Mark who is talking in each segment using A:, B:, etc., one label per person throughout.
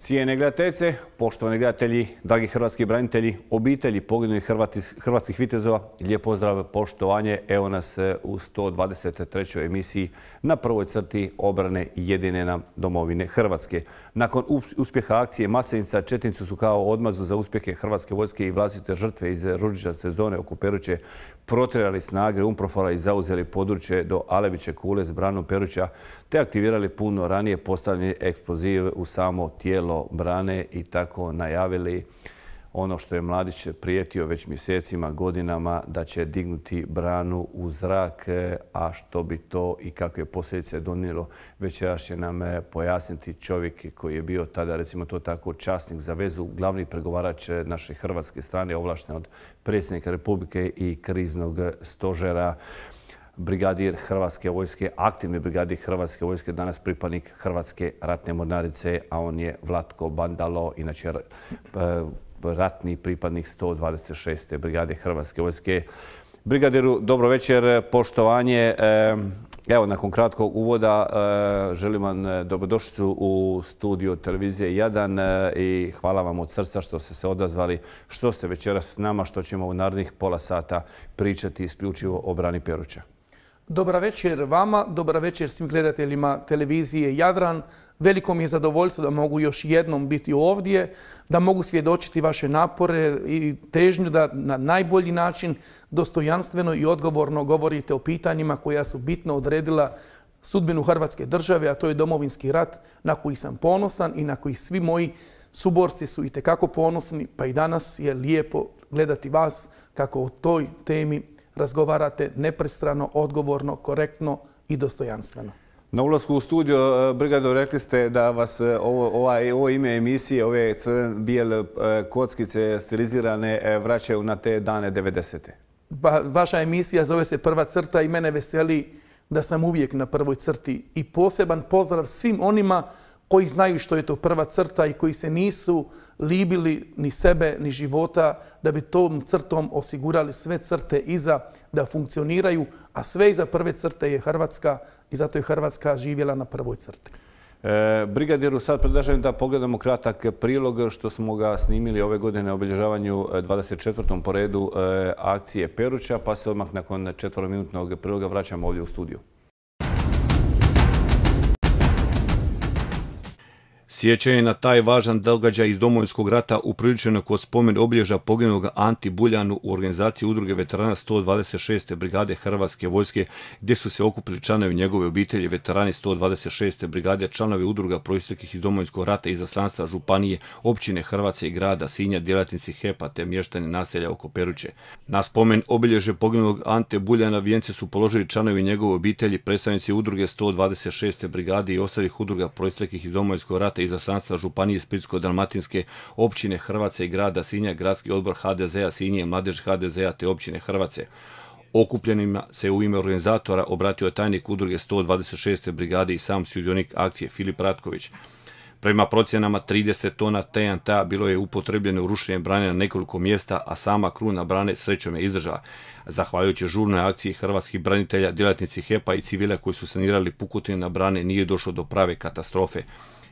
A: Cijene gledateljice, poštovani gledatelji, dragi hrvatski branitelji, obitelji poginulih hrvatskih vitezova, lijep pozdrav, poštovanje. Evo nas u 123. emisiji na prvoj crti obrane jedine nam domovine Hrvatske. Nakon uspjeha akcije Maslenica, četnici su kao odmazdu za uspjehe Hrvatske vojske i vlastite žrtve iz ružičaste zone oko Peruće protjerali snage UNPROFOR-a i zauzeli područje do Alebiće kule s branom Peruća, te aktivirali puno ranije postavljeni eksploziv u samo tijelo brane i tako najavili ono što je Mladić prijetio već mjesecima, godinama, da će dignuti branu u zrak, a što bi to i kakve posljedice donijelo, večeras će nam pojasniti čovjek koji je bio tada, recimo to tako, časnik za vezu, glavni pregovarač naše hrvatske strane, ovlašten od predsjednika Republike i kriznog stožera, brigadir Hrvatske vojske, aktivni brigadir Hrvatske vojske, danas pripadnik Hrvatske ratne mornarice, a on je Vlatko Bandalo, inače ratni pripadnik 126. brigade Hrvatske vojske. Brigadiru, dobro večer, poštovanje. Evo, nakon kratkog uvoda želim vam dobrodošlicu u studio televizije Jadran i hvala vam od srca što ste se odazvali, što ste večeras s nama, što ćemo u narednih pola sata pričati isključivo o brani Peruća.
B: Dobar večer vama, dobar večer svim gledateljima televizije Jadran. Veliko mi je zadovoljstvo da mogu još jednom biti ovdje, da mogu svjedočiti vaše napore i težnju da na najbolji način dostojanstveno i odgovorno govorite o pitanjima koja su bitno odredila sudbinu Hrvatske države, a to je Domovinski rat na koji sam ponosan i na koji svi moji suborci su itekako ponosni, pa i danas je lijepo gledati vas kako o toj temi razgovarate nepristrano, odgovorno, korektno i dostojanstveno.
A: Na ulasku u studio, brigado, rekli ste da vas ovo ime emisije, ove bijele kockice stilizirane vraćaju na te dane 90.
B: Vaša emisija zove se Prva crta i mene veseli da sam uvijek na prvoj crti. I poseban pozdrav svim onima koji znaju što je to prva crta i koji se nisu libili ni sebe, ni života, da bi tom crtom osigurali sve crte iza da funkcioniraju, a sve iza prve crte je Hrvatska i zato je Hrvatska živjela na prvoj crti.
A: Brigadiru, sad predlažem da pogledamo kratak prilog što smo ga snimili ove godine na obilježavanju 24. po redu akcije Peruća, pa se odmah nakon 4-minutnog priloga vraćamo ovdje u studiju.
C: Sjećanje na taj važan događaj iz Domovinskog rata upriličeno kod spomen obilježja poginulog Anti Buljanu u organizaciji udruge veterana 126. brigade Hrvatske vojske, gdje su se okupili članovi njegove obitelji, veterani 126. brigade, članovi udruga proisteklih iz Domovinskog rata i izaslanstva županije, općine Hrvatske i grada Sinja, djelatnici HEP-a te mještani naselja oko Peruće. Na spomen obilježje poginulog Ante Buljana vijence su položili članovi njegove obitelji, predstavnici udruge 126. brigade i ostalih udruga proisteklih iz Domovinskog rata i izaslanstva županije Splitsko-dalmatinske, općine Hrvatske i grada Sinja, gradski odbor HDZ-a Sinje, mladež HDZ-a te općine Hrvatske. Okupljenima se u ime organizatora obratio tajnik udruge 126. brigade i sam sudionik akcije Filip Ratković. Prema procjenama 30 tona TNT-a bilo je upotrebljeno u rušenje brane na nekoliko mjesta, a sama kruna brane srećom je izdržala. Zahvaljujući žurnoj akciji hrvatskih branitelja, djelatnici HEP-a i civila koji su sanirali pukotine na brane, nije došlo do prave katastrofe.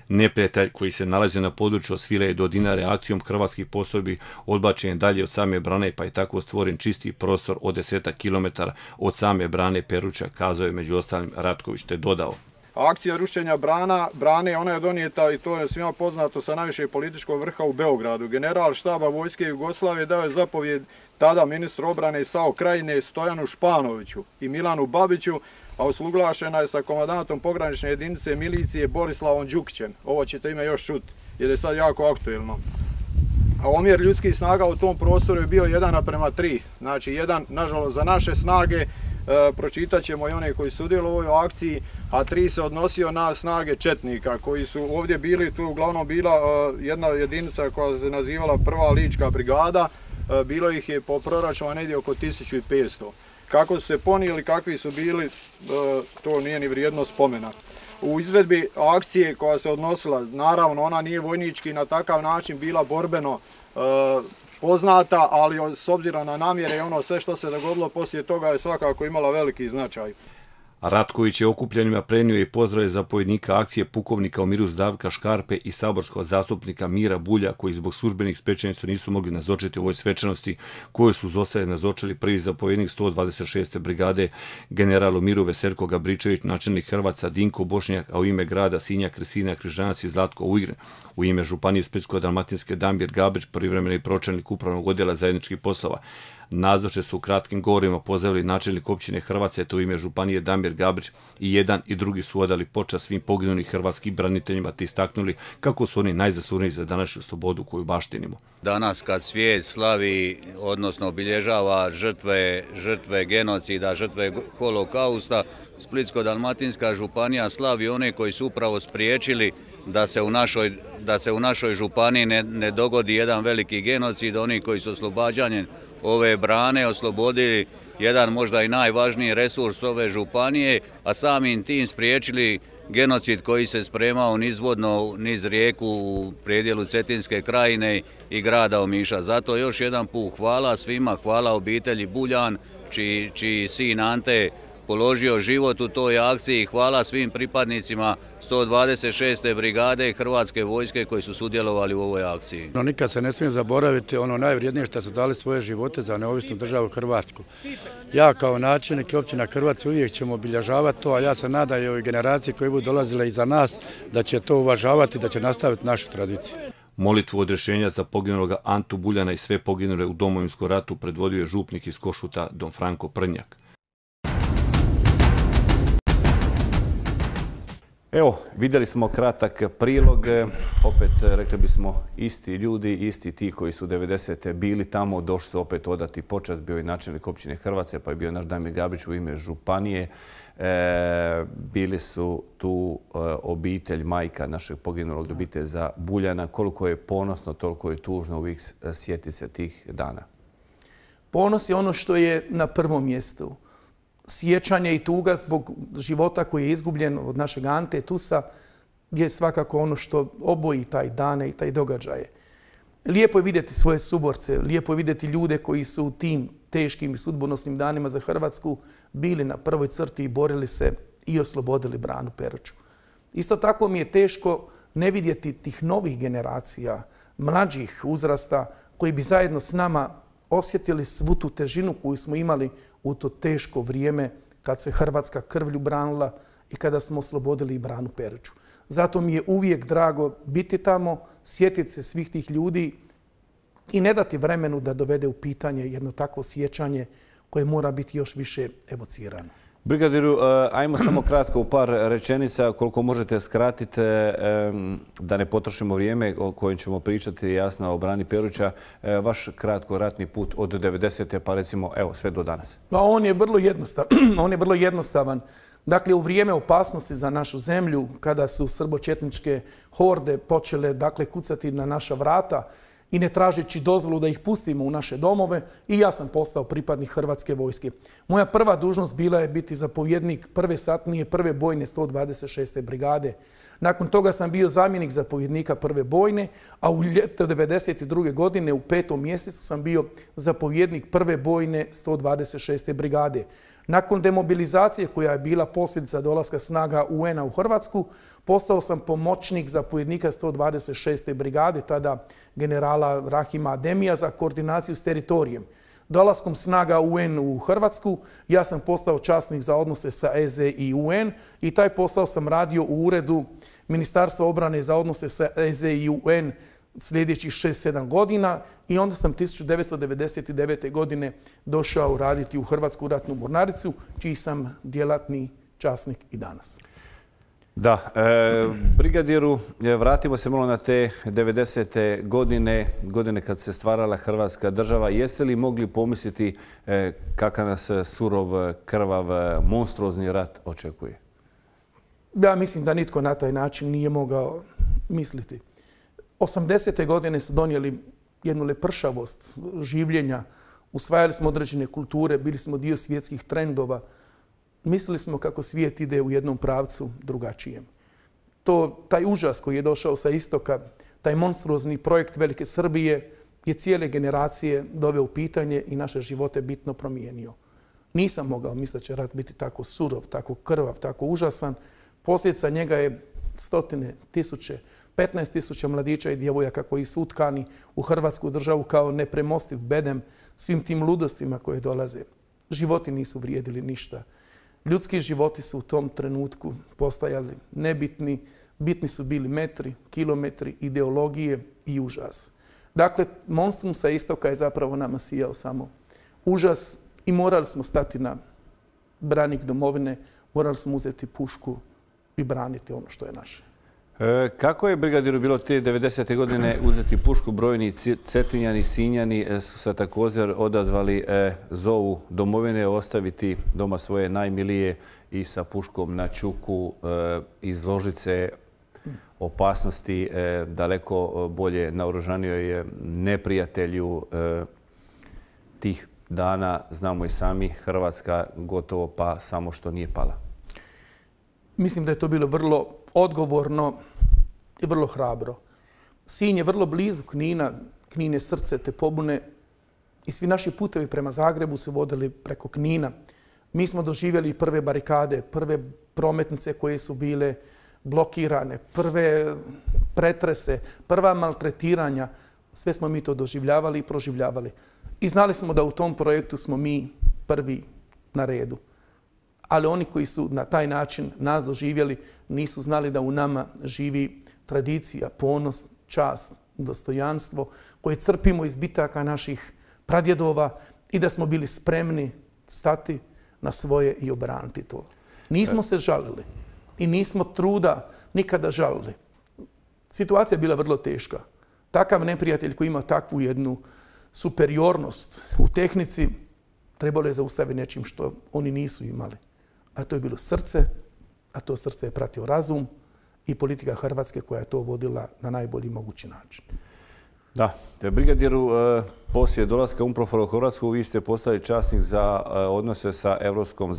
C: Neprijatelj koji se nalazio na području od Svilaje do Dinare akcijom hrvatskih postrojbi odbačen je dalje od same brane, pa je tako stvoren čisti prostor od 10 km od same brane Peruća, kazao je među ostalim Ratković, te dodao.
D: Akcija rušenja brane, ona je donijeta, i to je svima poznato, sa najvišeg političkog vrha u Beogradu. General štaba vojske Jugoslavije dao je zapovjed tada ministru obrane SAO Krajine Stojanu Španoviću i Milanu Babiću, a usuglašena je sa komandantom pogranične jedinice milicije Borislavom Đukićem. Ovo ćete ime još čuti jer je sad jako aktuelno. A omjer ljudskih snaga u tom prostoru je bio 1:3. Znači, jedan, nažalost, za naše snage, pročitat ćemo i one koji su sudjelovali u ovoj akciji, a 3 se odnosio na snage četnika koji su ovdje bili. Tu je uglavnom bila jedna jedinica koja se nazivala Prva lička brigada, bilo ih je po proračunu negdje oko 1500. Kako su se ponijeli, kakvi su bili, to nije ni vrijedno spomena. U izvedbi akcije koja se odnosila, naravno ona nije vojnički na takav način bila borbeno poznata, ali s obzirom na namjere i ono sve što se dogodilo poslije toga je svakako imala veliki značaj.
C: Ratković je okupljenima prenio i pozdrave zapovjednika akcije pukovnika Omiru Zdravka Škarpe i saborskog zastupnika Mira Bulja, koji zbog službenih svečanosti nisu mogli nazočiti u ovoj svečanosti koju su zostaje nazočili prvi zapovjednik 126. brigade general Miru Veserko Gabričević, načelnik Hrvaca Dinko Bošnjak, a u ime grada Sinja Kristina Križanac i Zlatko Ujgren. U ime Županije Splitsko-dalmatinske Damir Gabrić, privremeni pročelnik upravnog odjela zajedničkih poslova. Nazoče su u kratkim govorima pozdravili načelnik općine Hrvace, te u ime Županije Damir Gabrić, i jedan i drugi su odali počast svim poginulim hrvatskim braniteljima te istaknuli kako su oni najzaslužniji za današnju slobodu koju baštinimo.
E: Danas kad svijet slavi, odnosno obilježava žrtve genocida, žrtve holokausta, Splitsko-dalmatinska županija slavi one koji su upravo spriječili da se u našoj županiji ne dogodi jedan veliki genocid, oni koji su oslobađanjem ove brane oslobodili jedan možda i najvažniji resurs ove županije, a samim tim spriječili genocid koji se spremao nizvodno niz rijeku u predjelu Cetinske krajine i grada Omiša. Zato još jedan put hvala svima, hvala obitelji Buljan, čiji sin Ante položio život u toj akciji. Hvala svim pripadnicima 126. brigade Hrvatske vojske koji su sudjelovali u ovoj akciji.
F: Nikad se ne smije zaboraviti ono najvrijednije što su dali svoje živote za neovisnu državu Hrvatsku. Ja kao načelnik općina Hrvace uvijek ćemo obilježavati to, a ja se nadam i ovoj generaciji koji budu dolazile iza nas da će to uvažavati, da će nastaviti našu tradiciju.
C: Molitvu odrješenja za poginuloga Antu Buljana i sve poginule u Domovinskom ratu predvodio je župnik iz Košuta Don Franko Prnjak.
A: Evo, vidjeli smo kratak prilog, opet rekli bismo isti ljudi, isti ti koji su 90. bili tamo, došli su opet odati počast, bio je načelnik općine Hrvace, pa je bio naš Damir Gabrić u ime županije. Bili su tu obitelj, majka našeg poginulog obitelja Buljana. Koliko je ponosno, toliko je tužno uvijek sjeti se tih dana.
B: Ponos je ono što je na prvom mjestu. Sjećanje i tuga zbog života koji je izgubljen od našeg Ante Tusa je svakako ono što oboji taj dane i taj događaje. Lijepo je vidjeti svoje suborce, lijepo je vidjeti ljude koji su u tim teškim i sudbonosnim danima za Hrvatsku bili na prvoj crti i borili se i oslobodili branu Peruču. Isto tako mi je teško ne vidjeti tih novih generacija, mlađih uzrasta koji bi zajedno s nama osjetili svu tu težinu koju smo imali u to teško vrijeme kad se Hrvatska krvlju branila i kada smo oslobodili branu Peruču. Zato mi je uvijek drago biti tamo, sjetiti se svih tih ljudi i ne dati vremenu da dovede u pitanje jedno takvo sjećanje koje mora biti još više evocirano.
A: Brigadiru, ajmo samo kratko u par rečenica, koliko možete skratiti da ne potrošimo vrijeme o kojem ćemo pričati jasno o brani Peruča. Vaš kratko ratni put od 90. pa recimo evo sve do danas.
B: On je vrlo jednostavan. Dakle, u vrijeme opasnosti za našu zemlju, kada su srbočetničke horde počele kucati na naša vrata, i ne tražeći dozvolu da ih pustimo u naše domove, i ja sam postao pripadnik Hrvatske vojske. Moja prva dužnost bila je biti zapovjednik prve satnije, prve bojne 126. brigade. Nakon toga sam bio zamjenik zapovjednika prve bojne, a u ljeto 1992. godine u 5. mjesecu sam bio zapovjednik prve bojne 126. brigade. Nakon demobilizacije koja je bila posljedica dolaska snaga UN-a u Hrvatsku, postao sam pomoćnik zapovjednika 126. brigade, tada generala Rahima Ademija, za koordinaciju s teritorijem. Dolaskom snaga UN u Hrvatsku, ja sam postao časnik za odnose sa EZ i UN i taj posao sam radio u uredu Ministarstva obrane za odnose sa EZ i UN sljedećih 6-7 godina i onda sam 1999. godine došao raditi u Hrvatsku ratnu mornaricu, čiji sam djelatni časnik i danas.
A: Da, brigadiru, vratimo se malo na te 90. godine kad se stvarala Hrvatska država. Jeste li mogli pomisliti kakav nas surov, krvav, monstruozni rat očekuje?
B: Ja mislim da nitko na taj način nije mogao misliti. 80. godine su donijeli jednu lepršavost življenja, usvajali smo određene kulture, bili smo dio svjetskih trendova. Mislili smo kako svijet ide u jednom pravcu drugačijem. Taj užas koji je došao sa istoka, taj monstruozni projekt Velike Srbije je cijele generacije doveo u pitanje i naše živote bitno promijenio. Nisam mogao misliti da će rat biti tako surov, tako krvav, tako užasan. Posljedica njega je stotine, tisuće, 15.000 mladića i djevojaka koji su utkani u Hrvatsku državu kao nepremostiv bedem svim tim ludostima koje dolaze. Životi nisu vrijedili ništa. Ljudski životi su u tom trenutku postajali nebitni. Bitni su bili metri, kilometri, ideologije i užas. Dakle, monstrum sa istoka je zapravo nama sijao samo užas i morali smo stati na branik domovine, morali smo uzeti pušku i braniti ono što je naše.
A: Kako je brigadiru bilo te 90. godine uzeti pušku? Brojni Cetinjani, Sinjani su se također odazvali zovu domovine, ostaviti doma svoje najmilije i sa puškom na čuku izložiti se opasnosti daleko bolje naoružanijoj neprijatelju. Tih dana, znamo i sami, Hrvatska gotovo pa samo što nije pala.
B: Mislim da je to bilo vrlo odgovorno i vrlo hrabro. Sinj je vrlo blizu Knina, Knin je srce te pobune i svi naši putevi prema Zagrebu se vodili preko Knina. Mi smo doživjeli prve barikade, prve prometnice koje su bile blokirane, prve pretrese, prva maltretiranja. Sve smo mi to doživljavali i proživljavali. I znali smo da u tom projektu smo mi prvi na redu. Ali oni koji su na taj način nas doživjeli nisu znali da u nama živi tradicija, ponos, čast, dostojanstvo koje crpimo iz bitaka naših pradjedova i da smo bili spremni stati na svoje i obraniti to. Nismo se žalili i nismo truda nikada žalili. Situacija je bila vrlo teška. Takav neprijatelj koji ima takvu jednu superiornost u tehnici trebalo je zaustaviti nečim što oni nisu imali. A to je bilo srce, a to srce je pratio razum i politika Hrvatske koja je to vodila na najbolji mogući način.
A: Da, brigadiru, poslije dolaska UNPROFOR u Hrvatsku vi ste postali časnik za odnose sa Europskom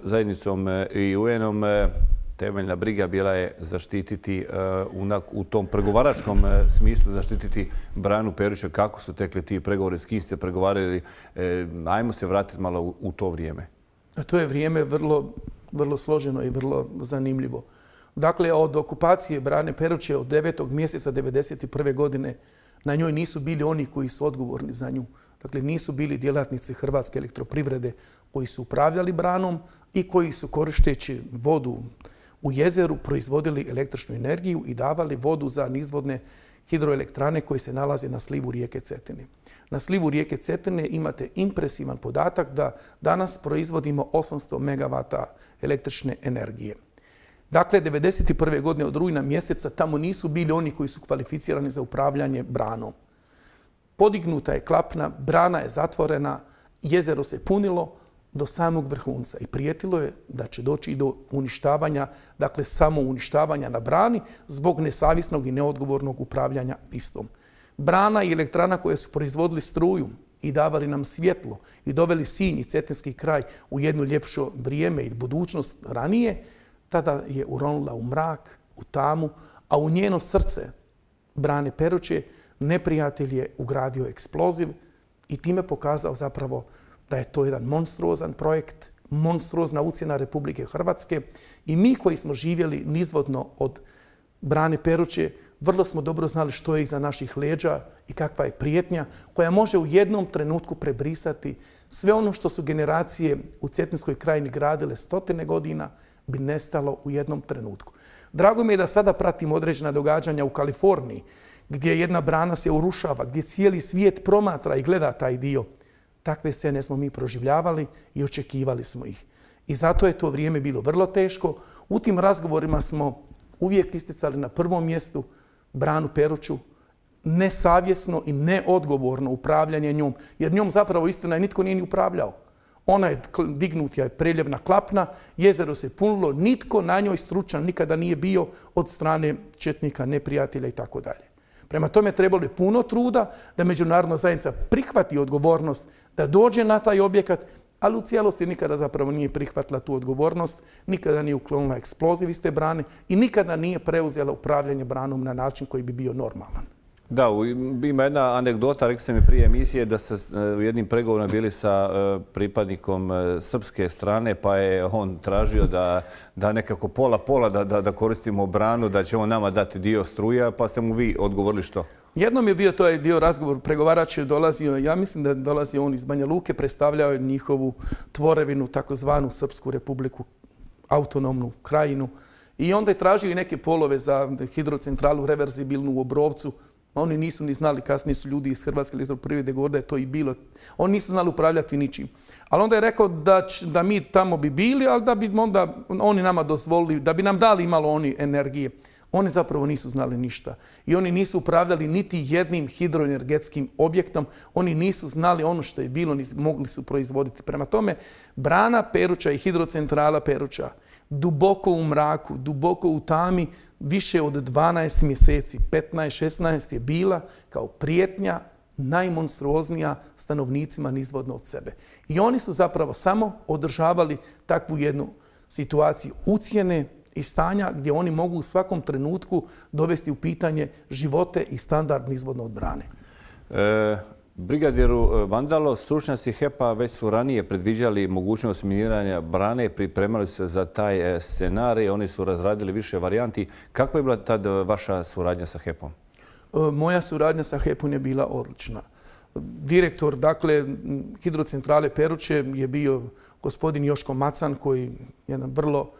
A: zajednicom i UN-om. Temeljna briga bila je zaštititi u tom pregovaračkom smislu, zaštititi Branu Peruća. Kako su tekli ti pregovori, s kim ste pregovarali? Ajmo se vratiti malo u to vrijeme.
B: To je vrijeme vrlo složeno i vrlo zanimljivo. Dakle, od okupacije Brane Peruće od 9. mjeseca 1991. godine na njoj nisu bili oni koji su odgovorni za nju. Dakle, nisu bili djelatnici Hrvatske elektroprivrede koji su upravljali Branom i koji su koristeći vodu u jezeru proizvodili električnu energiju i davali vodu za nizvodne hidroelektrane koje se nalaze na slivu rijeke Cetine. Na slivu rijeke Cetine imate impresivan podatak da danas proizvodimo 800 MW električne energije. Dakle, 1991. godine od rujna mjeseca tamo nisu bili oni koji su kvalificirani za upravljanje Branom. Podignuta je klapna, brana je zatvorena, jezero se punilo do samog vrhunca i prijetilo je da će doći i do uništavanja, dakle samo uništavanja na brani zbog nesavjesnog i neodgovornog upravljanja istom. Brana i elektrana koje su proizvodili struju i davali nam svjetlo i doveli Sinj i cetinski kraj u jedno ljepše vrijeme i budućnost ranije, tada je uronula u mrak, u tamu, a u njeno srce Brane Peruće neprijatelj je ugradio eksploziv i time pokazao zapravo da je to jedan monstruozan projekt, monstruozna ucjena Republike Hrvatske i mi koji smo živjeli nizvodno od Brane Peruće vrlo smo dobro znali što je iza naših leđa i kakva je prijetnja koja može u jednom trenutku prebrisati sve ono što su generacije u Cetinskoj krajini gradile stotine godina bi nestalo u jednom trenutku. Drago mi je da sada pratim određena događanja u Kaliforniji gdje jedna brana se urušava, gdje cijeli svijet promatra i gleda taj dio. Takve scene smo mi proživljavali i očekivali smo ih. I zato je to vrijeme bilo vrlo teško. U tim razgovorima smo uvijek isticali na prvom mjestu Branu Peruću, nesavjesno i neodgovorno upravljanje njom, jer njom zapravo istina nitko nije ni upravljao. Ona je dignuta je preljevna klapna, jezero se punilo, nitko na njoj stručan nikada nije bio od strane četnika, neprijatelja i tako dalje. Prema tome trebalo je puno truda da međunarodna zajednica prihvati odgovornost, da dođe na taj objekat, ali u cijelosti nikada zapravo nije prihvatila tu odgovornost, nikada nije uklonila eksploziv iz te brane i nikada nije preuzela upravljanje branom na način koji bi bio normalan.
A: Da, ima jedna anegdota, rekli ste mi prije emisije da ste u jednim pregovorima bili sa pripadnikom srpske strane, pa je on tražio da nekako pola da koristimo branu, da će on nama dati dio struja, pa ste mu vi odgovorili što?
B: Jednom je bio to dio razgovor, pregovarač je dolazio, ja mislim da je dolazio on iz Banja Luke, predstavljao je njihovu tvorevinu, takozvanu Srpsku republiku, autonomnu krajinu. I onda je tražio i neke polove za hidrocentralu reverzibilnu u Obrovcu. Oni nisu ni znali, kasnije su ljudi iz Hrvatske elektroprivrede govorili da je to i bilo. Oni nisu znali upravljati ničim. Ali onda je rekao da mi tamo bi bili, ali da bi onda oni nama dozvolili, da bi nam dali malo oni energije. Oni zapravo nisu znali ništa. I oni nisu upravljali niti jednim hidroenergetskim objektom. Oni nisu znali ono što je bilo, niti mogli su proizvoditi. Prema tome, brana Peruča i hidrocentrala Peruča duboko u mraku, duboko u tami, više od 12 mjeseci, 15-16 je bila kao prijetnja najmonstruoznija stanovnicima nizvodno od sebe. I oni su zapravo samo održavali takvu jednu situaciju ucjene i stanja gdje oni mogu u svakom trenutku dovesti u pitanje živote i standard nizvodno od brane.
A: Brigadijeru Vandalo, stručnjaci HEP-a već su ranije predviđali mogućnost miniranja brane, pripremali se za taj scenarij, oni su razradili više varijanti. Kakva je bila tad vaša suradnja sa HEP-om?
B: Moja suradnja sa HEP-om je bila odlična. Direktor, dakle, hidrocentrale Peruče je bio gospodin Joško Macan, koji je jedan vrlo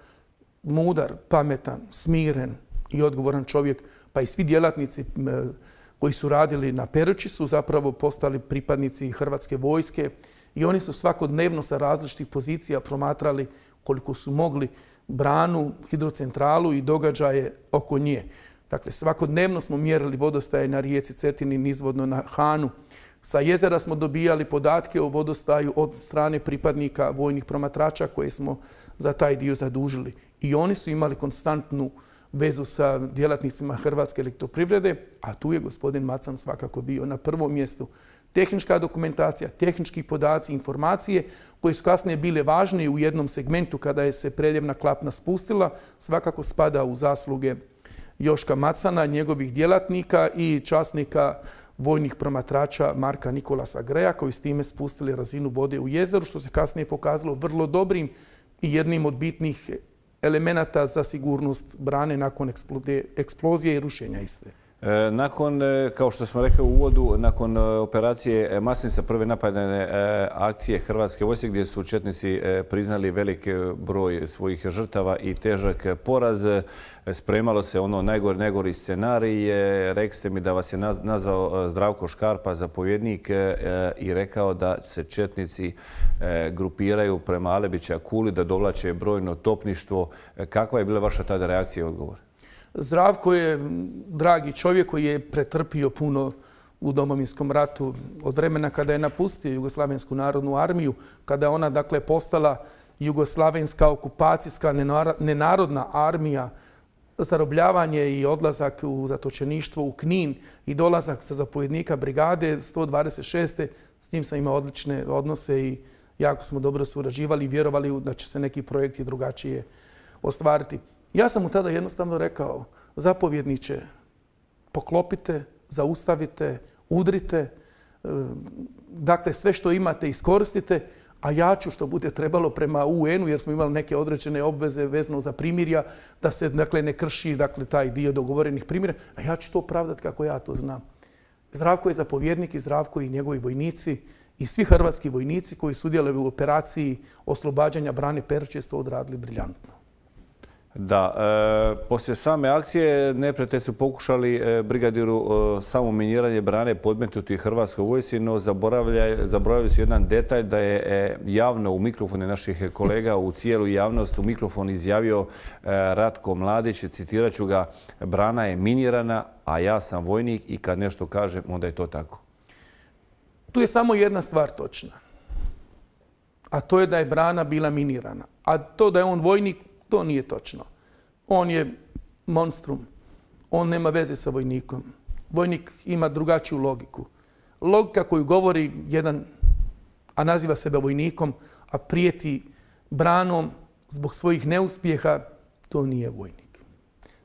B: mudar, pametan, smiren i odgovoran čovjek, pa i svi djelatnici koji su radili na Peruči su zapravo postali pripadnici Hrvatske vojske i oni su svakodnevno sa različitih pozicija promatrali koliko su mogli branu, hidrocentralu i događaje oko nje. Dakle, svakodnevno smo mjerili vodostaje na rijeci Cetini, nizvodno na Hanu. Sa jezera smo dobijali podatke o vodostaju od strane pripadnika vojnih promatrača koje smo za taj dio zadužili. I oni su imali konstantnu vezu sa djelatnicima Hrvatske elektroprivrede, a tu je gospodin Macan svakako bio na prvom mjestu. Tehnička dokumentacija, tehnički podaci, informacije koje su kasnije bile važnije u jednom segmentu kada je se preljevna klapna spustila, svakako spada u zasluge Joška Macana, njegovih djelatnika i časnika vojnih promatrača Marka Nikolasa Greja koji s time spustili razinu vode u jezeru, što se kasnije pokazalo vrlo dobrim i jednim od bitnih elemenata za sigurnost brane nakon eksplozije i rušenja iste.
A: Nakon, kao što smo rekli u uvodu, nakon operacije Maslenica, prve napadne akcije Hrvatske vojske gdje su četnici priznali velik broj svojih žrtava i težak poraz, spremalo se ono najgori scenarij. Rekli ste mi da vas je nazvao Zdravko Škarpa, zapovjednik, i rekao da se četnici grupiraju prema Alebića Kuli, da dovlače brojno topništvo. Kakva je bila vaša tada reakcija i odgovor?
B: Zdravko je dragi čovjek koji je pretrpio puno u Domovinskom ratu od vremena kada je napustio Jugoslavensku narodnu armiju, kada je ona dakle postala Jugoslavenska okupacijska nenarodna armija, zarobljavanje i odlazak u zatočeništvo u Knin i dolazak sa zapovjednika brigade 126. S njim sam imao odlične odnose i jako smo dobro surađivali i vjerovali da će se neki projekti drugačije ostvariti. Ja sam mu tada jednostavno rekao, zapovjedniče, poklopite, zaustavite, udrite, dakle sve što imate iskoristite, a ja ću što bude trebalo prema UN-u, jer smo imali neke određene obveze vezano za primirja, da se dakle, ne krši dakle, taj dio dogovorenih primirja, a ja ću to opravdati kako ja to znam. Zdravko je zapovjednik i Zdravko i njegovi vojnici i svi hrvatski vojnici koji sudjeluju u operaciji oslobađanja brane Peruče su to odradili briljantno.
A: Da, poslije same akcije neprijatelji su pokušali brigadiru samo miniranje brane podmetnuti Hrvatskoj vojsci, no zaboravili su jedan detalj da je javno u mikrofone naših kolega, u cijelu javnost u mikrofon izjavio Ratko Mladić, citirat ću ga, brana je minirana, a ja sam vojnik i kad nešto kažem, onda je to tako.
B: Tu je samo jedna stvar točna, a to je da je brana bila minirana. A to da je on vojnik, to nije točno. On je monstrum. On nema veze sa vojnikom. Vojnik ima drugačiju logiku. Logika koju govori jedan, a naziva sebe vojnikom, a prijeti branom zbog svojih neuspjeha, to nije vojnik.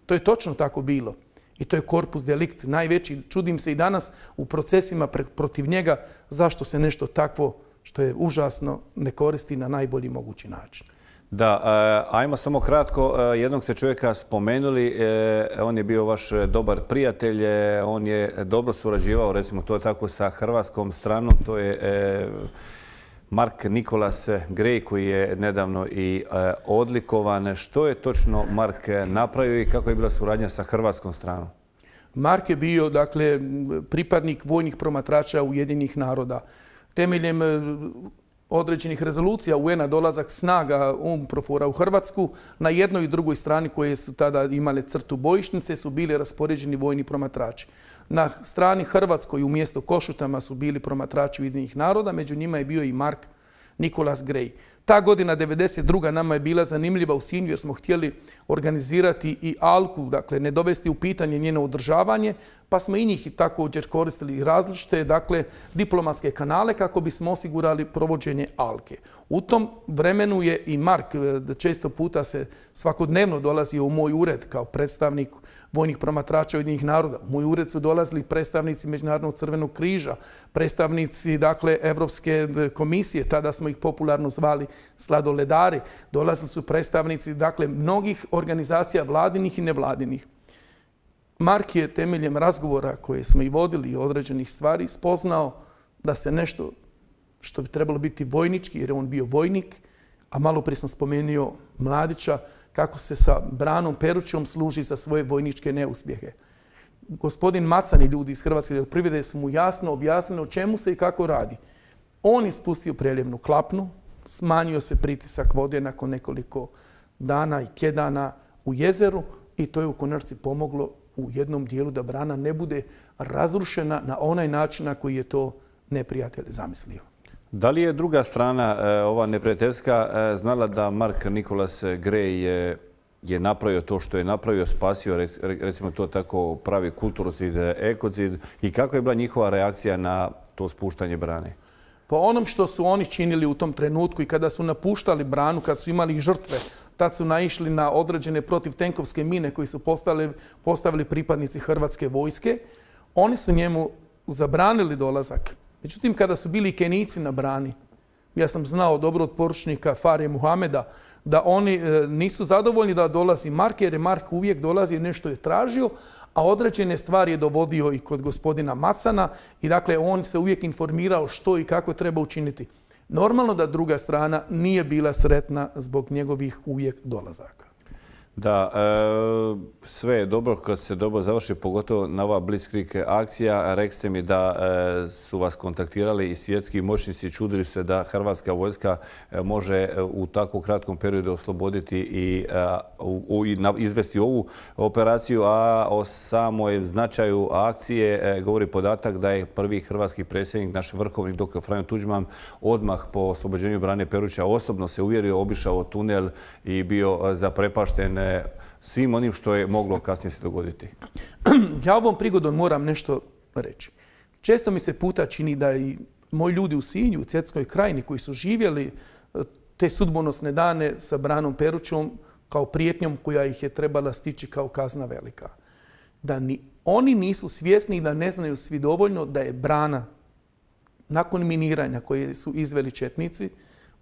B: To je točno tako bilo. I to je korpus delikt najveći. Čudim se i danas u procesima protiv njega zašto se nešto takvo, što je užasno, ne koristi na najbolji mogući način.
A: Da, ajmo samo kratko. Jednog ste čovjeka spomenuli, on je bio vaš dobar prijatelj, on je dobro surađivao, recimo to tako, sa hrvatskom stranom, to je Mark Nicholas Gray, koji je nedavno i odlikovan. Što je točno Mark napravio i kako je bila suradnja sa hrvatskom stranom?
B: Mark je bio, dakle, pripadnik vojnih promatrača Ujedinjenih naroda. Temeljem određenih rezolucija UN-a dolazak snaga UNPROFOR-a u Hrvatsku, na jednoj i drugoj strani koje su tada imale crtu bojišnice su bili raspoređeni vojni promatrači. Na strani Hrvatskoj umjesto Košutama su bili promatrači Ujedinjenih naroda, među njima je bio i Mark Nicholas Gray. Ta godina 92. nama je bila zanimljiva u Sinju jer smo htjeli organizirati i Alku, dakle ne dovesti u pitanje njeno održavanje, pa smo i njih također koristili različite, dakle, diplomatske kanale kako bismo osigurali provođenje Alke. U tom vremenu je i Mark često puta se svakodnevno dolazio u moj ured kao predstavnik vojnih promatrača Ujedinjenih naroda. U moj ured su dolazili predstavnici Međunarodnog crvenog križa, predstavnici, dakle, Evropske komisije, tada smo ih popularno zvali sladoledari, dolazili su predstavnici, dakle, mnogih organizacija vladinih i nevladinih. Mark je temeljem razgovora koje smo i vodili određenih stvari spoznao da se nešto što bi trebalo biti vojnički, jer je on bio vojnik, a malo prije sam spomenuo Mladića, kako se sa Branom Perućom služi za svoje vojničke neuspjehe. Gospodin Macan i ljudi iz Hrvatske elektroprivrede su mu jasno objasnili o čemu se i kako radi. On je spustio preljevnu klapnu, smanjio se pritisak vode nakon nekoliko dana i tjedana u jezeru i to je u konačnici pomoglo u jednom dijelu da brana ne bude razrušena na onaj način na koji je to neprijatelj zamislio.
A: Da li je druga strana, ova neprijateljska, znala da Mark Nicholas Gray je napravio to što je napravio, spasio, recimo to tako, pravi kulturocid, ekocid, i kako je bila njihova reakcija na to spuštanje brane?
B: Po onom što su oni činili u tom trenutku i kada su napuštali branu, kad su imali žrtve, tad su naišli na određene protivtenkovske mine koje su postavili pripadnici Hrvatske vojske. Oni su njemu zabranili dolazak. Međutim, kada su bili Kenijci na brani, ja sam znao dobro od poručnika Farije Muhameda da oni nisu zadovoljni da dolazi Mark, jer je Mark uvijek dolazi, nešto je tražio, a određene stvari je dovodio i kod gospodina Macana i dakle on se uvijek informirao što i kako treba učiniti. Normalno da druga strana nije bila sretna zbog njegovih uvijek dolazaka.
A: Da, sve je dobro kad se dobro završi, pogotovo na ova Blitzkrieg akcija. Rekste mi da su vas kontaktirali i svjetski moćnici, čudili se da hrvatska vojska može u tako kratkom periodu osloboditi i izvesti ovu operaciju, a o samoj značaju akcije govori podatak da je prvi hrvatski predsjednik, naš vrhovnik dr. Franjo Tuđman, odmah po oslobođenju Brane Peruća osobno se uvjerio, obišao tunel i bio zaprepašten svim onim što je moglo kasnije se dogoditi.
B: Ja ovom prigodom moram nešto reći. Često mi se puta čini da i moji ljudi u Sinju, u Cetinskoj krajini, koji su živjeli te sudbonosne dane sa Branom Perućom kao prijetnjom koja ih je trebala stići kao kazna velika. Da ni oni nisu svjesni i da ne znaju svi dovoljno da je brana nakon miniranja koje su izveli četnici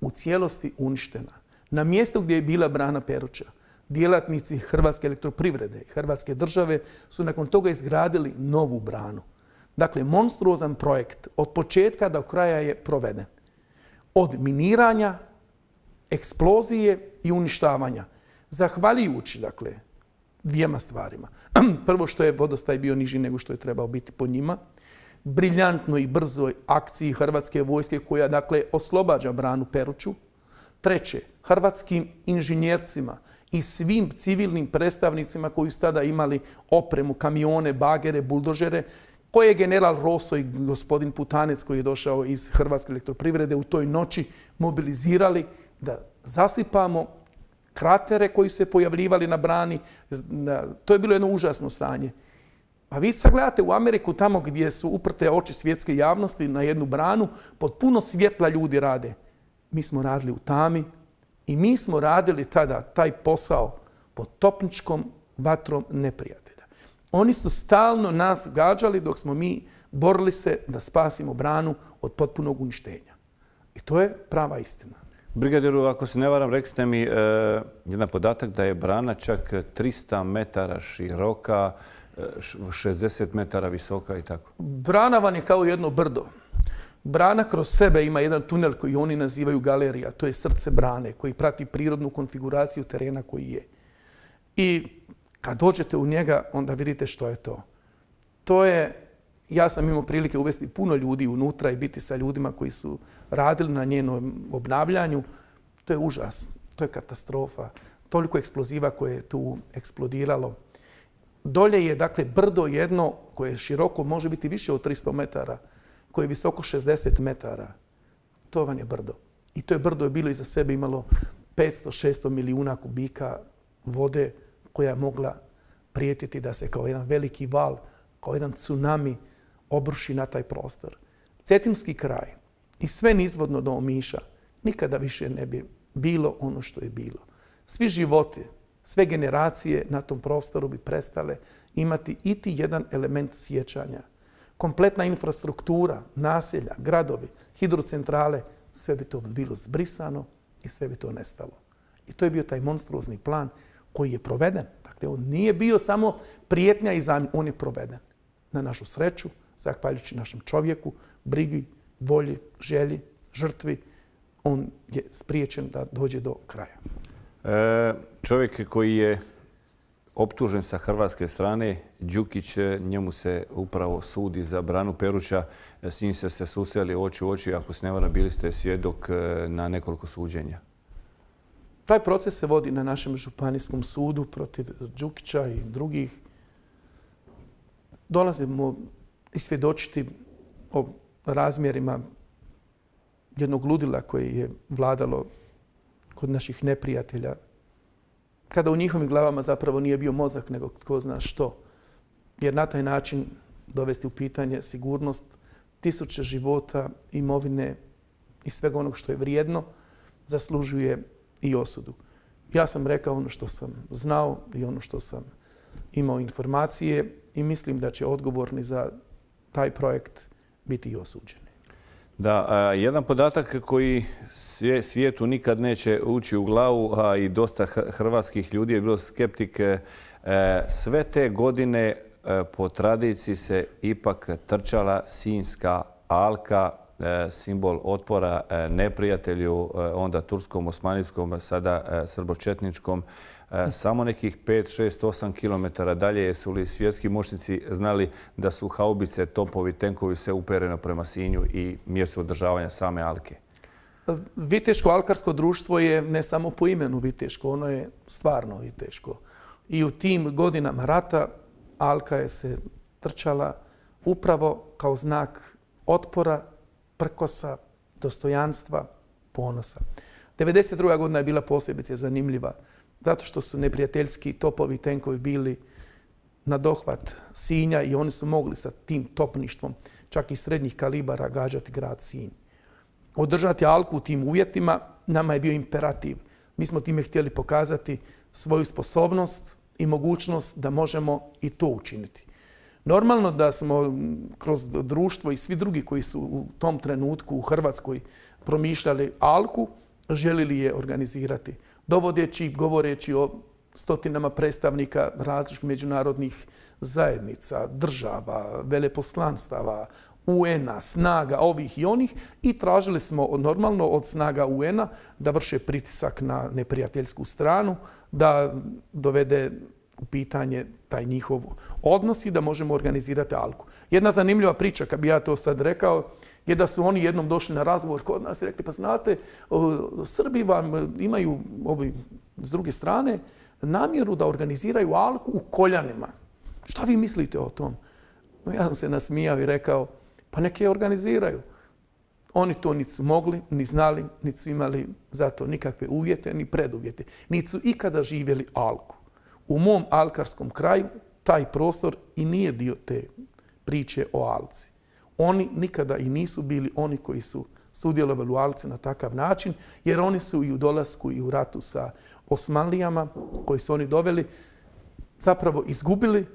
B: u cijelosti uništena. Na mjestu gdje je bila Brana Peruća, djelatnici Hrvatske elektroprivrede i Hrvatske države su nakon toga izgradili novu branu. Dakle, monstruozan projekt od početka do kraja je proveden. Od miniranja, eksplozije i uništavanja. Zahvaljujući, dakle, dvijema stvarima. Prvo, što je vodostaj bio niži nego što je trebao biti po njima. Briljantnoj i brzoj akciji Hrvatske vojske koja, dakle, oslobađa Branu Peruću. Treće, hrvatskim inženjercima i svim civilnim predstavnicima koji su tada imali opremu, kamione, bagere, buldožere, koje je general Rosso i gospodin Putanec koji je došao iz Hrvatske elektroprivrede u toj noći mobilizirali da zasipamo kratere koji su se pojavljivali na brani. To je bilo jedno užasno stanje. Pa vi sad gledate u Ameriku, tamo gdje su uprte oči svjetske javnosti na jednu branu, pod puno svjetla ljudi rade. Mi smo radili u tami i mi smo radili tada taj posao pod topničkom vatrom neprijatelja. Oni su stalno nas gađali dok smo mi borili se da spasimo branu od potpunog uništenja. I to je prava istina.
A: Brigadiru, ako se ne varam, rekli ste mi jedan podatak da je brana čak 300 metara široka, 60 metara visoka i tako.
B: Brana vam je kao jedno brdo. Brana kroz sebe ima jedan tunel koji oni nazivaju galerija. To je srce brane koji prati prirodnu konfiguraciju terena koji je. I kad dođete u njega, onda vidite što je to. To je, ja sam imao prilike uvesti puno ljudi unutra i biti sa ljudima koji su radili na njenom obnavljanju. To je užas, to je katastrofa. Toliko eksploziva koje je tu eksplodiralo. Dolje je, dakle, brdo jedno koje je široko, može biti više od 300 metara, koje je visoko 60 metara. To vam je brdo. I to je brdo je bilo iza sebe imalo 500-600 milijuna kubika vode koja je mogla prijetiti da se kao jedan veliki val, kao jedan tsunami obruši na taj prostor. Cetinski kraj i sve nizvodno do Omiša nikada više ne bi bilo ono što je bilo. Svi životi, sve generacije na tom prostoru bi prestale imati iti jedan element sjećanja. Kompletna infrastruktura, naselja, gradovi, hidrocentrale, sve bi to bilo zbrisano i sve bi to nestalo. I to je bio taj monstruozni plan koji je proveden. Dakle, on nije bio samo prijetnja i zamjena, on je proveden. Na našu sreću, zahvaljujući našem čovjeku, brigi, volji, želji, žrtvi, on je spriječen da dođe do kraja.
A: Čovjek koji je optužen sa hrvatske strane, Đukić, njemu se upravo sudi za branu Peruća. S njim ste se susreli oči u oči, ako se ne varam, bili ste svjedok na nekoliko suđenja.
B: Taj proces se vodi na našem županijskom sudu protiv Đukića i drugih. Dolazimo i svjedočiti o razmjerima jednog ludila koje je vladalo kod naših neprijatelja, kada u njihovim glavama zapravo nije bio mozak, nego tko zna što. Jer na taj način dovesti u pitanje sigurnost tisuće života, imovine i svega onog što je vrijedno, zaslužuje i osudu. Ja sam rekao ono što sam znao i ono što sam imao informacije i mislim da će odgovorni za taj projekt biti i osuđeni.
A: Da, jedan podatak koji svijetu nikad neće ući u glavu, a i dosta hrvatskih ljudi je bilo skeptik, sve te godine po tradiciji se ipak trčala Sinjska alka, simbol otpora neprijatelju, onda turskom, osmanijskom, sada srbočetničkom. Samo nekih 5, 6, 8 kilometara dalje su li svjetski moćnici znali da su haubice, topovi, tenkovi sve upereno prema Sinju i mjestu održavanja same alke?
B: Viteško-alkarsko društvo je ne samo po imenu Viteško, ono je stvarno Viteško. I u tim godinama rata alka je se trčala upravo kao znak otpora, prkosa, dostojanstva, ponosa. 1992. godina je bila posebice zanimljiva zato što su neprijateljski topovi i tenkovi bili na dohvat Sinja i oni su mogli sa tim topništvom čak i srednjih kalibara gađati grad Sinj. Održati alku u tim uvjetima nama je bio imperativ. Mi smo time htjeli pokazati svoju sposobnost i mogućnost da možemo i to učiniti. Normalno da smo kroz društvo i svi drugi koji su u tom trenutku u Hrvatskoj promišljali alku, želili je organizirati. Dovodeći, govoreći o stotinama predstavnika različitih međunarodnih zajednica, država, veleposlanstava, UN-a, snaga ovih i onih i tražili smo normalno od snaga UN-a da vrše pritisak na neprijateljsku stranu, da dovede u pitanje taj njihov odnos i da možemo organizirati alku. Jedna zanimljiva priča, kad bi ja to sad rekao, je da su oni jednom došli na razgovor kod nas i rekli, pa znate, Srbi vam imaju s druge strane namjeru da organiziraju alku u Koljanima. Šta vi mislite o tom? Ja sam se nasmijao i rekao, pa neke je organiziraju. Oni to niti su mogli, ni znali, niti su imali za to nikakve uvjete, ni preduvjete. Niti su ikada živjeli alku. U mom alkarskom kraju taj prostor i nije dio te priče o alci. Oni nikada i nisu bili oni koji su sudjelovali u alci na takav način, jer oni su i u dolasku i u ratu sa Osmanlijama, koji su oni doveli, zapravo izgubili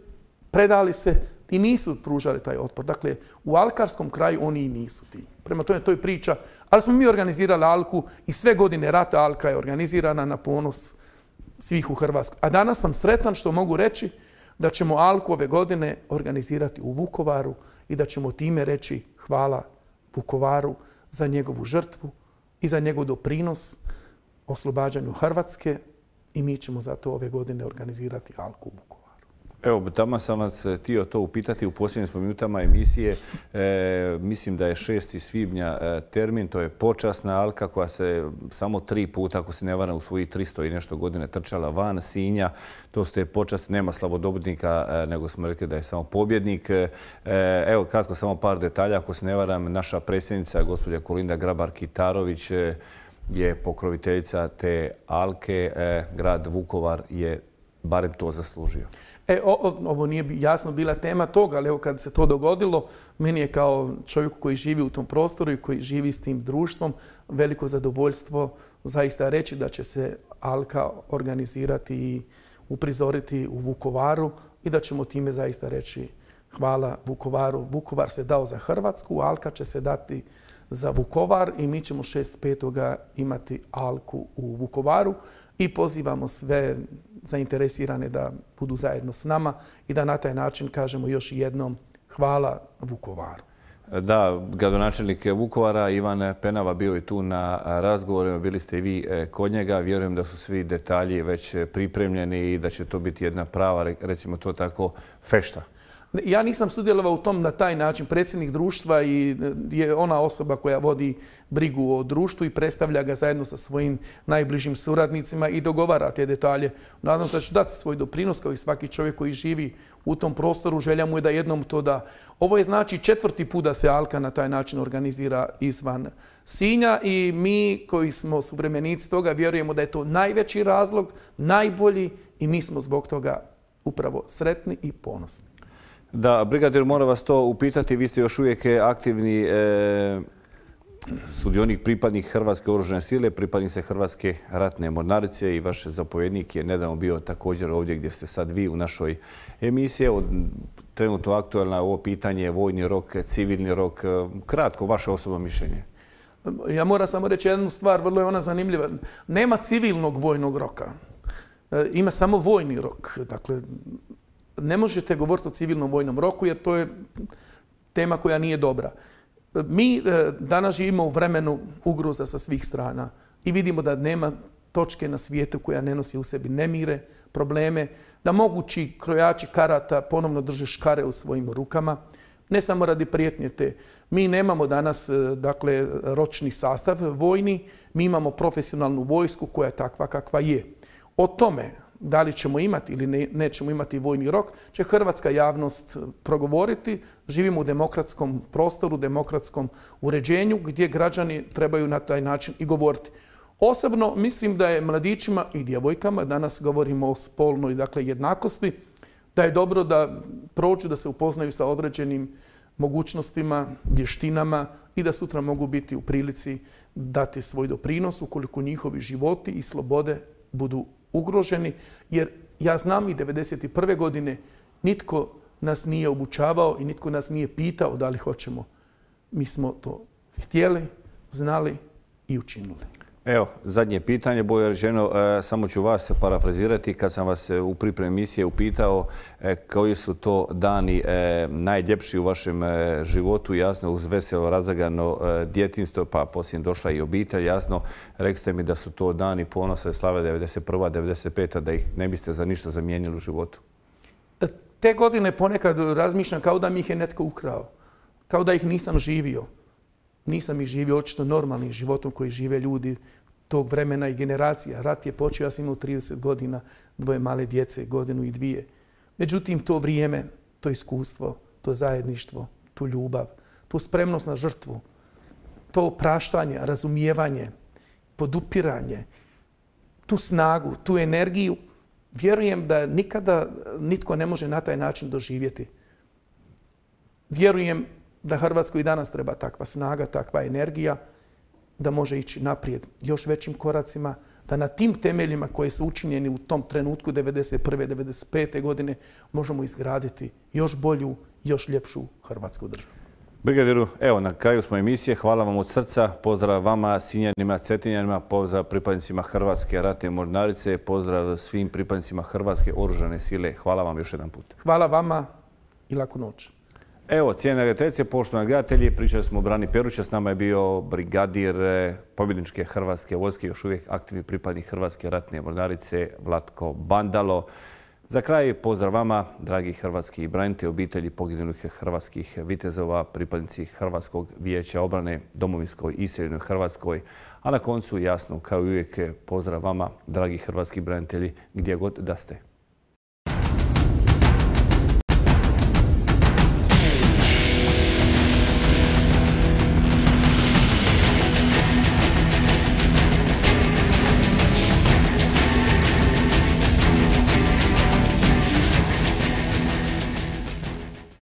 B: predali se i nisu pružali taj otpor. Dakle, u alkarskom kraju oni i nisu ti. Prema tome, to je priča. Ali smo mi organizirali Alku i sve godine rata Alka je organizirana na ponos svih u Hrvatskoj. A danas sam sretan što mogu reći da ćemo Alku ove godine organizirati u Vukovaru i da ćemo time reći hvala Vukovaru za njegovu žrtvu i za njegov doprinos oslobađanju Hrvatske i mi ćemo zato ove godine organizirati Alku u Vukovaru.
A: Evo, tamo sam vas htio to upitati u posljednjim smo minutama emisije. Mislim da je 6. svibnja termin, to je počasna Alka koja se samo 3 puta, ako se ne varam, u svojih 300 i nešto godine trčala van Sinja. To ste počast, nema slavodobitnika, nego smo rekli da je samo pobjednik. Evo, kratko samo par detalja. Ako se ne varam, naša predsjednica, gospođa Kolinda Grabar-Kitarović, je pokroviteljica te Alke. Grad Vukovar je barem to zaslužio.
B: Ovo nije jasno bila tema toga, ali evo kad se to dogodilo, meni je kao čovjeku koji živi u tom prostoru i koji živi s tim društvom veliko zadovoljstvo zaista reći da će se Alka organizirati i uprizoriti u Vukovaru i da ćemo time zaista reći hvala Vukovaru. Vukovar se dao za Hrvatsku, Alka će se dati za Vukovar i mi ćemo 6.5. imati Alku u Vukovaru i pozivamo sve zainteresirane da budu zajedno s nama i da na taj način kažemo još jednom hvala Vukovaru.
A: Da, gradonačelnik Vukovara Ivan Penava bio je tu na razgovorima, bili ste i vi kod njega. Vjerujem da su svi detalji već pripremljeni i da će to biti jedna prava, recimo to tako, fešta.
B: Ja nisam sudjelovao u tom na taj način. Predsjednik društva je ona osoba koja vodi brigu o društvu i predstavlja ga zajedno sa svojim najbližim suradnicima i dogovara te detalje. Nadam se da ću dati svoj doprinos kao i svaki čovjek koji živi u tom prostoru. Želja mu je da jednom to da. Ovo je znači 4. put da se Alka na taj način organizira izvan Sinja i mi koji smo suvremenici toga vjerujemo da je to najveći razlog, najbolji i mi smo zbog toga upravo sretni i ponosni.
A: Da, brigadir, moram vas to upitati. Vi ste još uvijek aktivni sudionik, pripadnik Hrvatske oružane sile, pripadnik se Hrvatske ratne mornarice i vaš zapovjednik je nedavno bio također ovdje gdje ste sad vi u našoj emisiji. Trenutno aktualno ovo pitanje, vojni rok, civilni rok. Kratko, vaše osobno mišljenje.
B: Ja moram samo reći jednu stvar, vrlo je ona zanimljiva. Nema civilnog vojnog roka. Ima samo vojni rok. Dakle, ne možete govoriti o civilnom vojnom roku jer to je tema koja nije dobra. Mi danas živimo u vremenu ugroza sa svih strana i vidimo da nema točke na svijetu koja ne nosi u sebi nemire, probleme, da mogući krojači karata ponovno drže škare u svojim rukama, ne samo radi prijetnje te. Mi nemamo danas dakle, ročni sastav vojni, mi imamo profesionalnu vojsku koja je takva kakva je. O tome da li ćemo imati ili nećemo imati vojni rok, će hrvatska javnost progovoriti. Živimo u demokratskom prostoru, demokratskom uređenju gdje građani trebaju na taj način i govoriti. Osobno mislim da je mladićima i djevojkama, danas govorimo o spolnoj dakle, jednakosti, da je dobro da prođu, da se upoznaju sa određenim mogućnostima, vještinama i da sutra mogu biti u prilici dati svoj doprinos ukoliko njihovi životi i slobode budu ugroženi, jer ja znam i 1991. godine nitko nas nije obučavao i nitko nas nije pitao da li hoćemo. Mi smo to htjeli, znali i učinili.
A: Evo, zadnje pitanje, bolje rečeno, samo ću vas parafrazirati. Kad sam vas u pripremi emisije upitao koji su to dani najljepši u vašem životu, jasno uz veselo razagano djetinjstvo, pa poslije došla i obitelj, jasno, rekli ste mi da su to dani ponosa i slave 91. 95. da ih ne biste za ništa zamijenili u životu.
B: Te godine ponekad razmišljam kao da mi ih je netko ukrao, kao da ih nisam živio. Nisam ih živio očito normalnim životom koji žive ljudi tog vremena i generacija. Rat je počeo, ja sam imao 30 godina, 2 male djece, 1 godinu i 2. Međutim, to vrijeme, to iskustvo, to zajedništvo, tu ljubav, tu spremnost na žrtvu, to opraštanje, razumijevanje, podupiranje, tu snagu, tu energiju, vjerujem da nikada nitko ne može na taj način doživjeti. Vjerujem da Hrvatskoj i danas treba takva snaga, takva energija. da može ići naprijed još većim koracima, da na tim temeljima koji su učinjeni u tom trenutku 1991. 1995. godine možemo izgraditi još bolju, još ljepšu Hrvatsku državu.
A: Brigadiru, evo na kraju smo emisije. Hvala vam od srca. Pozdrav vama, Sinjanima, Cetinjanima, pozdrav pripadnicima Hrvatske ratne mornarice, pozdrav svim pripadnicima Hrvatske oružane sile. Hvala vam još jedan put.
B: Hvala vama i laku noć.
A: Evo, cijene gledateljice, poštovani gledatelji, pričali smo o Brani Peruća, s nama je bio brigadir pobjedničke Hrvatske vojske, još uvijek aktivni pripadnik Hrvatske ratne mornarice Vlatko Bandalo. Za kraj pozdrav vama, dragi hrvatski branitelji, obitelji poginulih hrvatskih vitezova, pripadnici Hrvatskog vijeća obrane, domovinskoj i iseljenoj Hrvatskoj. A na koncu, jasno, kao i uvijek, pozdrav vama, dragi hrvatski branitelji, gdje god da ste.